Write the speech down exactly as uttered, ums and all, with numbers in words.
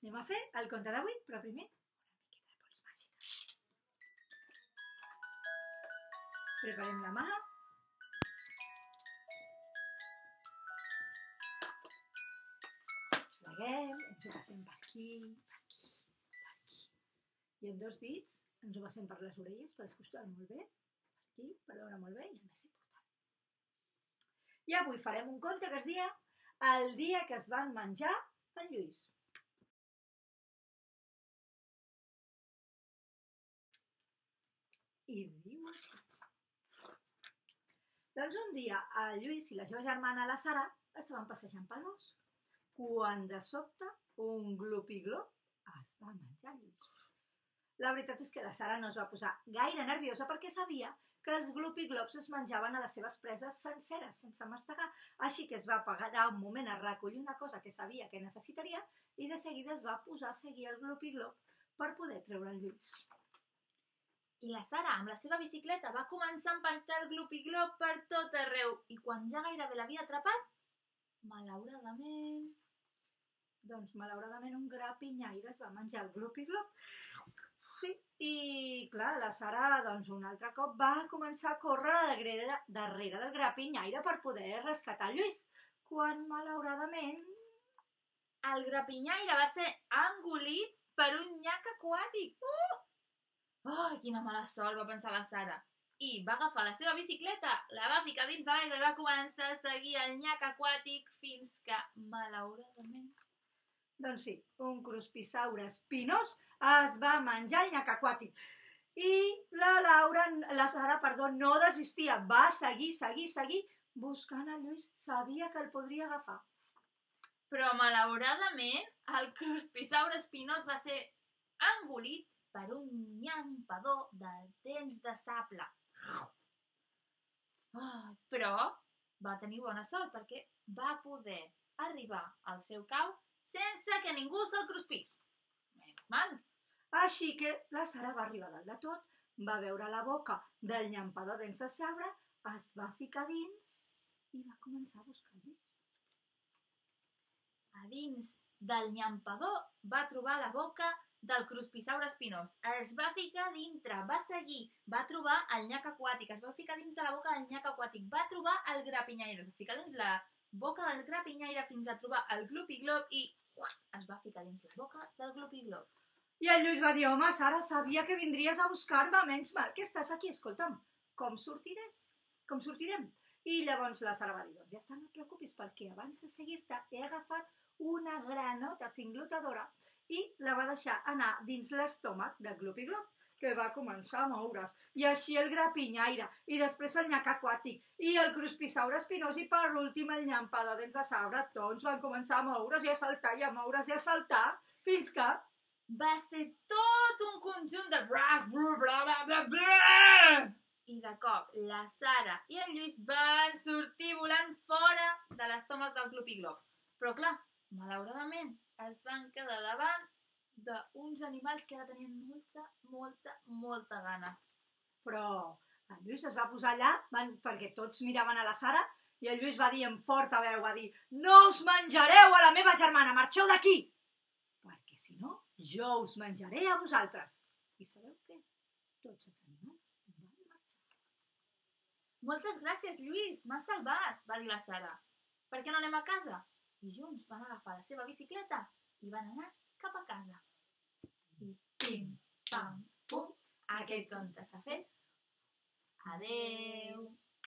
anem a fer el conte d'avui, però primer una miqueta de pols màgica. Preparem la mà. Pleguem, ens ho passem per aquí, per aquí, per aquí. I amb dos dits ens ho passem per les orelles, per escostar molt bé, per aquí, per veure molt bé i el més important. I avui farem un conte que es dia El dia que es van menjar en Lluís. I diu així. Doncs un dia el Lluís i la seva germana la Sara estaven passejant pel bosc, quan de sobte un glupi-glop es va menjar Lluís. La veritat és que la Sara no es va posar gaire nerviosa perquè sabia que els glupi-glops es menjaven a les seves preses senceres, sense mastegar, així que es va parar un moment a recollir una cosa que sabia que necessitaria i de seguida es va posar a seguir el glupi-glop per poder treure el Lluís. I la Sara, amb la seva bicicleta, va començar a empaitar el glupi-glop per tot arreu i quan ja gairebé l'havia atrapat, malauradament... Doncs malauradament un grapinyaire es va menjar el glupi-glop. Sí, i clar, la Sara doncs un altre cop va començar a córrer darrere, darrere del grapinyaire per poder rescatar el Lluís, quan malauradament... El grapinyaire va ser engolit per un nyac aquàtic. Uh! Ai, quina mala sort, va pensar la Sara. I va agafar la seva bicicleta, la va ficar dins de l'aigua i va començar a seguir el nyac aquàtic fins que, malauradament... Doncs sí, un cruspisaure espinós es va menjar el nyac aquàtic. I la Laura, la Sara, perdó, no desistia, va seguir, seguir, seguir, buscant el Lluís, sabia que el podria agafar. Però malauradament el cruspisaure espinós va ser engolit per un nyampador de dents de sable. Oh, però va tenir bona sort perquè va poder arribar al seu cau sense que ningú se'l cruspís. Menys mal. Així que la Sara va arribar dalt de tot, va veure la boca del nyampador de dents de sabre, es va ficar dins i va començar a buscar el Lluís. A dins del nyampador va trobar la boca del cruspisaure espinós. Es va ficar dintre, va seguir, va trobar el nyac aquàtic, es va ficar dins de la boca del nyac aquàtic, va trobar el grapinyaire, es va ficar dins la boca del grapinyaire fins a trobar el glupi-glop i es va ficar dins la boca del glupi-glop. I el Lluís va dir, home, Sara, sabia que vindries a buscar-me, menys mal que estàs aquí, escolta'm, com sortiràs? Com sortirem? I llavors la Sara va dir, doncs ja està, no et preocupis, perquè abans de seguir-te he agafat una granota cinglotadora i la va deixar anar dins l'estómac del glupi-glop, que va començar a moure's, i així el grapinyaire, i després el nyac aquàtic, i el cruspisaure espinós, i per últim el nyampador de dents de sabre, tots van començar a moure's i a saltar i a moure's i a saltar, fins que... Va ser tot un conjunt de bra, bra, bra, bra, bra, bra. I de cop la Sara i el Lluís van sortir volant fora de l'estómac del glupi-glop. Però clar, malauradament es van quedar davant d'uns animals que ara tenien molta, molta, molta gana. Però el Lluís es va posar allà perquè tots miraven a la Sara i el Lluís va dir amb forta veu, va dir, no us menjareu a la meva germana, marxeu d'aquí, perquè si no jo us menjaré a vosaltres. I sabeu què? Tots els animals van marxar. Moltes gràcies, Lluís, m'has salvat, va dir la Sara. Per què no anem a casa? I junts van agafar la seva bicicleta i van anar cap a casa. I pim, pam, pum, aquest conte està fet. Adeu!